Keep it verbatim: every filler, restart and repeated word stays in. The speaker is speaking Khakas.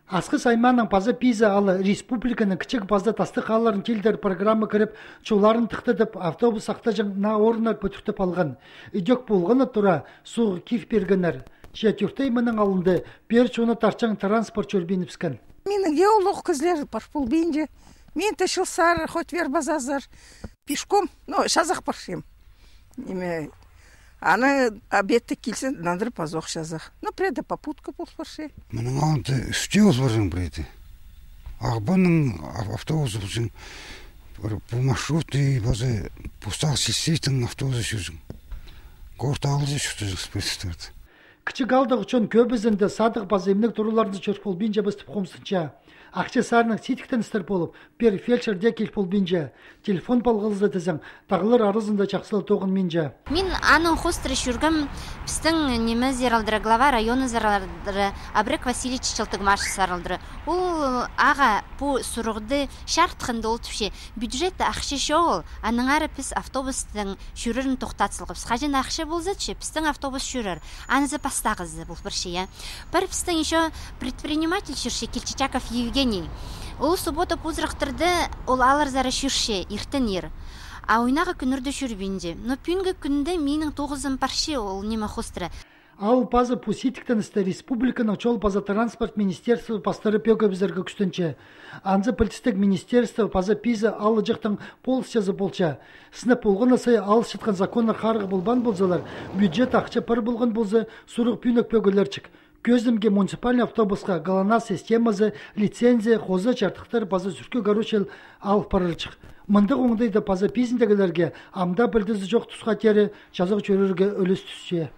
Асхыс аймааның паза Пиза аалы республиканың кічіг паза тастығ аалларын тилдір программа кіріп, чолларын тыхтадып, автобус сахтаҷаң наа орыннар пӱдіртіп алған. Ідӧк полғаны тура, суғ кир пиргеннер. Че тӧрт ай мының алнында пеер чоны тартчаң транспорт чӧрбинібіскен. Минің геолог кізілер пар полбинча. Мин тіҷел сар, хоть вер пазазар. Пешком, ну, чазах парчам. Ниме, аны обедте килзе, нандыр пазох чазах. Ну, предпопутка пол парча. Мының алнында ӱстӱ ол парҷаң преде. Ағбанның ав-, автобусы полҷаң. Пір пу маршрутный паза пу сағ сельсетінің автобусы чӧрҷең. Город аалҷа чуртаҷаң спецтарды. Кічіг аалдағы чон кӧбізінде садығ паза имнег тураларында чӧр полбинчабыс тіп хомзынча. Ахча саринаң сидіктеністер полып, пеер фельдшер дее кил полбинча. Телефон палғалза тізең, тағлар аразында чахсы ла тоғынминча. Мин аның хоостыра чӧргем пістің ниме саралдыра, глава района саралдыра, Абрек Васильевич Челтыгмашев саралдыра. Ол ағаа пу сурығды чарытханда ол тіпче: бюджетте ахча чоғыл, аннаңар піс автобустың чӧрерін тохтат салғабыс. Хаҷан ахча полза, тіпче, пістің автобус чӧрер. Анзы пастағызы пол парча, я. Пір пістің ещё предприниматель чӧрче, Кильчичаков Евгений. Ол суббота позырахтарда ол аалларзар чӧрче иртеннер. А ойнағы кӱннерде чӧрбинче. Но пӱӱнгі кӱнде минің тоғызым парча ол ниме хоостыра. Аал паза пу сидіктеністі республиканың чол паза транспорт министерствозы пастыра пӧгібізерге кӱстенче. Анзы пілдістіг министерство паза Пиза аалҷахтың полысчазы полча. Сынап полғаны сай алысчатхан законнар харығ полбаан ползалар, бюджет ахча пар полған полза, сурығ пӱӱнек пӧгілерҷік. Кӧзімге муниципальный автобусха ГЛОНАСС системазы, лицензия, хоза чардыхтар паза сӱркӱ, короче, алып парарҷых. Мындағ оңдайда паза пизіндегілерге ам даа пілдізі чох тусха теере чазағ чӧрерге ӱлес тӱсче.